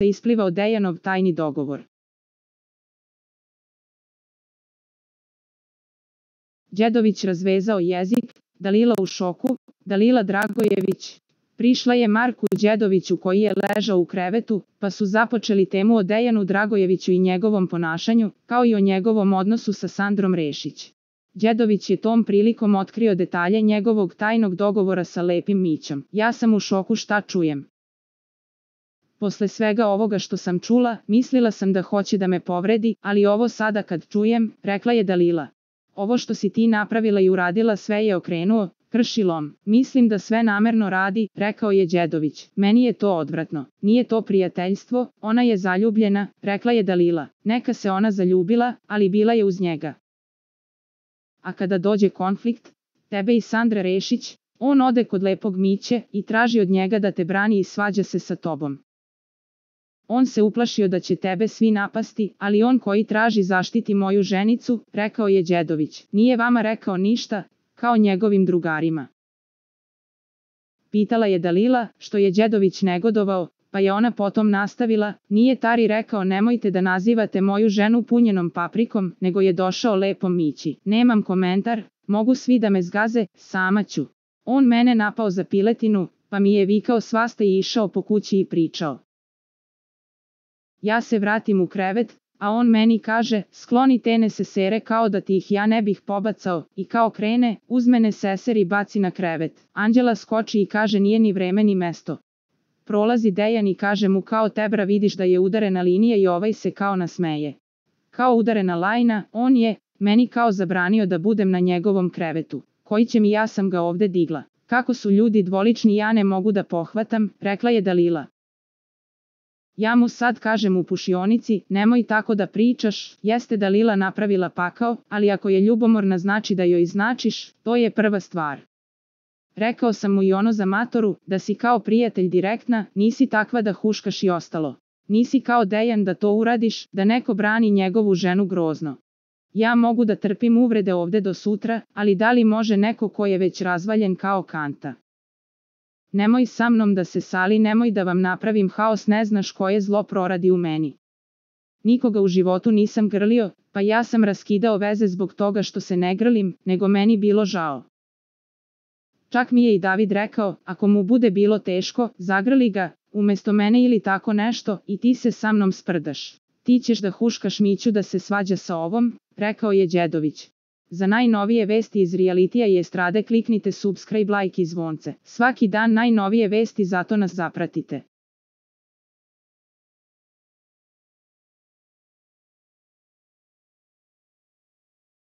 isplivao Dejanov tajni dogovor. Đedović razvezao jezik, Dalila u šoku, Dalila Dragojević. Prišla je Marku Đedoviću koji je ležao u krevetu, pa su započeli temu o Dejanu Dragojeviću i njegovom ponašanju, kao i o njegovom odnosu sa Sandrom Rešić. Đedović je tom prilikom otkrio detalje njegovog tajnog dogovora sa Lepim Mićom. Ja sam u šoku šta čujem. Posle svega ovoga što sam čula, mislila sam da hoće da me povredi, ali ovo sada kad čujem, rekla je Dalila. Ovo što si ti napravila i uradila sve je okrenuo, kršilom. Mislim da sve namerno radi, rekao je Đedović. Meni je to odvratno. Nije to prijateljstvo, ona je zaljubljena, rekla je Dalila. Neka se ona zaljubila, ali bila je uz njega. A kada dođe konflikt, tebe i Sandra Rešić, on ode kod Lepog Miće i traži od njega da te brani i svađa se sa tobom. On se uplašio da će tebe svi napasti, ali on koji traži zaštiti moju ženicu, rekao je Đedović. Nije vama rekao ništa, kao njegovim drugarima. Pitala je Dalila, što je Đedović negodovao, pa je ona potom nastavila, nije Tari rekao nemojte da nazivate moju ženu punjenom paprikom, nego je došao Lepom Mići. Nemam komentar, mogu svi da me zgaze, sama ću. On mene napao za piletinu, pa mi je vikao svašta i išao po kući i pričao. Ja se vratim u krevet, a on meni kaže, skloni te nesesere kao da ti ih ja ne bih pobacao, i kao krene, uzme neseser i baci na krevet. Anđela skoči i kaže nije ni vreme ni mesto. Prolazi Dejan i kaže mu kao tebra vidiš da je udarena linija i ovaj se kao nasmeje. Kao udarena lajna, on je, meni kao zabranio da budem na njegovom krevetu. Koji će mi ja sam ga ovde digla. Kako su ljudi dvolični ja ne mogu da pohvatam, rekla je Dalila. Ja mu sad kažem u pušionici, nemoj tako da pričaš, jeste Dalila napravila pakao, ali ako je ljubomorna znači da joj značiš, to je prva stvar. Rekao sam mu i ono za matoru, da si kao prijatelj direktna, nisi takva da huškaš i ostalo. Nisi kao Dejan da to uradiš, da neko brani njegovu ženu grozno. Ja mogu da trpim uvrede ovde do sutra, ali da li može neko ko je već razvaljen kao kanta? Nemoj sa mnom da se sali, nemoj da vam napravim haos, ne znaš koje zlo proradi u meni. Nikoga u životu nisam grlio, pa ja sam raskidao veze zbog toga što se ne grlim, nego meni bilo žao. Čak mi je i David rekao, ako mu bude bilo teško, zagrli ga, umesto mene ili tako nešto, i ti se sa mnom sprdaš. Ti ćeš da huškaš Miću da se svađa sa ovom, rekao je Đedović. Za najnovije vesti iz realitija i estrade kliknite subscribe, like i zvonce. Svaki dan najnovije vesti, zato nas zapratite.